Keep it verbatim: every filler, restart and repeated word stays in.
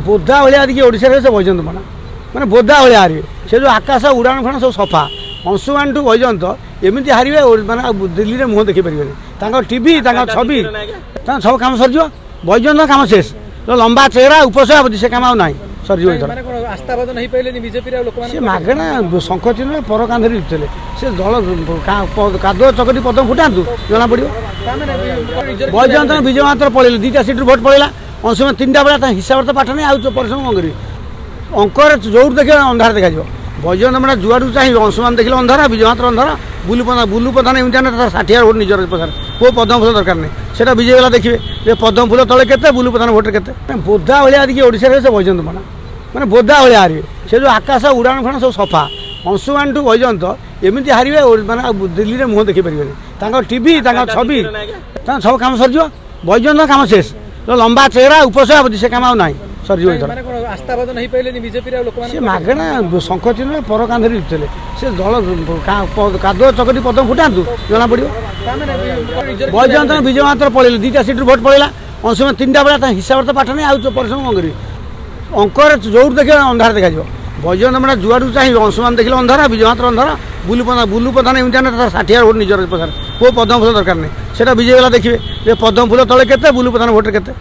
ବୋଦା ଭଳିଆ ଟିକେ ଓଡ଼ିଶାରେ ସେ ବୈଜୟନ୍ତ ପଣ୍ଡା ମାନେ ବୋଦା ଭଳିଆ ହାରିବେ। ସେ ଯେଉଁ ଆକାଶ ଉଡ଼ାଣ ଫୁଡ଼ାଣ ସବୁ ସଫା। ଅଂଶୁମାନଠୁ ବୈଜୟନ୍ତ ଏମିତି ହାରିବେ, ମାନେ ଆଉ ଦିଲ୍ଲୀରେ ମୁହଁ ଦେଖିପାରିବେନି। ତାଙ୍କ ଟିଭି, ତାଙ୍କ ଛବି, ତାଙ୍କ ସବୁ କାମ ସରିଯିବ। ବୈଜୟନ୍ତ କାମ ଶେଷ। ଲମ୍ବା ଚେହେରା ଉପସଭାପତି, ସେ କାମ ଆଉ ନାହିଁ, ସରିଯିବ ଏଥର। ସେ ମାଗଣା ଶଙ୍ଖ ଚିହ୍ନ ପର କାନ୍ଧରେ ଲିପୁଥିଲେ। ସେ ଦଳ କାଦୁଅ ଚକଟି ପଦମ ଫୁଟାନ୍ତୁ, ଜଣା ପଡ଼ିବ। ବୈଜୟନ୍ତ ବିଜୟ ମାତ୍ର ପଳେଇଲେ, ଦୁଇଟା ସିଟ୍ରୁ ଭୋଟ ପଳେଇଲା। ଅଂଶୁମାନ ତିନିଟା ବେଳେ ତା ହିସାବରେ ତ ପାଠ ନାହିଁ, ଆଉ ପରିଶ୍ରମ କ'ଣ କରିବେ? ଅଙ୍କରେ ଯୋଉଠୁ ଦେଖିବେ ଅନ୍ଧାର ଦେଖାଯିବ। ବୈଜୟନ୍ତ ମାନେ ଯୁଆଡ଼ୁ ଚାହିଁବେ, ଅଂଶୁମାନ ଦେଖିଲେ ଅନ୍ଧାର, ବିଜୟ ମାତ୍ର ଅନ୍ଧାର। ବୁଲୁ ପ୍ରଧାନ, ବୁଲୁ ପ୍ରଧାନ ଏମିତି ଆଣେ ତାର ଷାଠିଏ ଭୋଟ ନିଜର ପ୍ରଧାନ। କେଉଁ ପଦ୍ମ ଫୁଲ ଦରକାର ନାହିଁ, ସେଇଟା ବିଜେପି ବାଲା ଦେଖିବେ ଯେ ପଦ୍ମ ଫୁଲ ତଳେ କେତେ, ବୁଲୁ ପ୍ରଧାନ ଭୋଟରେ କେତେ। ବୋଦା ଭଳିଆ ଟିକେ ଓଡ଼ିଶାରେ ସେ ବୈଜୟନ୍ତ ପଣ୍ଡା ମାନେ ବୋଦା ଭଳିଆ ହାରିବେ। ସେ ଯେଉଁ ଆକାଶ ଉଡ଼ାଣ ଫୁଡ଼ାଣ ସବୁ ସଫା। ଅଂଶୁମାନଠୁ ବୈଜୟନ୍ତ ଏମିତି ହାରିବେ, ମାନେ ଆଉ ଦିଲ୍ଲୀରେ ମୁହଁ ଦେଖିପାରିବେନି। ତାଙ୍କ ଟିଭି, ତାଙ୍କ ଛବି, ତାଙ୍କ ସବୁ କାମ ସରିଯିବ। ବୈଜୟନ୍ତ କାମ ଶେଷ। ଲମ୍ବା ଚେହେରା ଉପସଭାପତି, ସେ କାମ ଆଉ ନାହିଁ, ସରିଯିବ ଏଥର। ସେ ମାଗଣା ଶଙ୍ଖ ଚିହ୍ନ ପର କାନ୍ଧରେ ଲିପୁଥିଲେ। ସେ ଦଳ କାଦୁଅ ଚକଟି ପଦମ ଫୁଟାନ୍ତୁ, ଜଣା ପଡ଼ିବ। ବୈଜୟନ୍ତ ବିଜୟ ମାତ୍ର ପଳେଇଲେ, ଦୁଇଟା ସିଟ୍ରୁ ଭୋଟ ପଳେଇଲା। ଅଂଶୁମାନ ତିନିଟା ବେଳେ ତା ହିସାବରେ ତ ପାଠ ନାହିଁ, ଆଉ ପରିଶ୍ରମ କ'ଣ କରିବେ? ଅଙ୍କରେ ଯୋଉଠୁ ଦେଖିବେ ଅନ୍ଧାର ଦେଖାଯିବ। ବୈଜୟନ୍ତ ମାନେ ଯୁଆଡ଼ୁ ଚାହିଁବେ, ଅଂଶୁମାନ ଦେଖିଲେ ଅନ୍ଧାର, ବିଜୟ ମାତ୍ର ଅନ୍ଧାର। ବୁଲୁ ପ୍ରଧାନ, ବୁଲୁ ପ୍ରଧାନ ଏମିତି ଆଣେ ତାର ଷାଠିଏ ଭୋଟ ନିଜର ପ୍ରଧାନ। କେଉଁ ପଦ୍ମ ଫୁଲ ଦରକାର ନାହିଁ, ସେଇଟା ବିଜେପି ବାଲା ଦେଖିବେ ଯେ ପଦ୍ମ ଫୁଲ ତଳେ କେତେ, ବୁଲୁ ପ୍ରଧାନ ଭୋଟରେ କେତେ।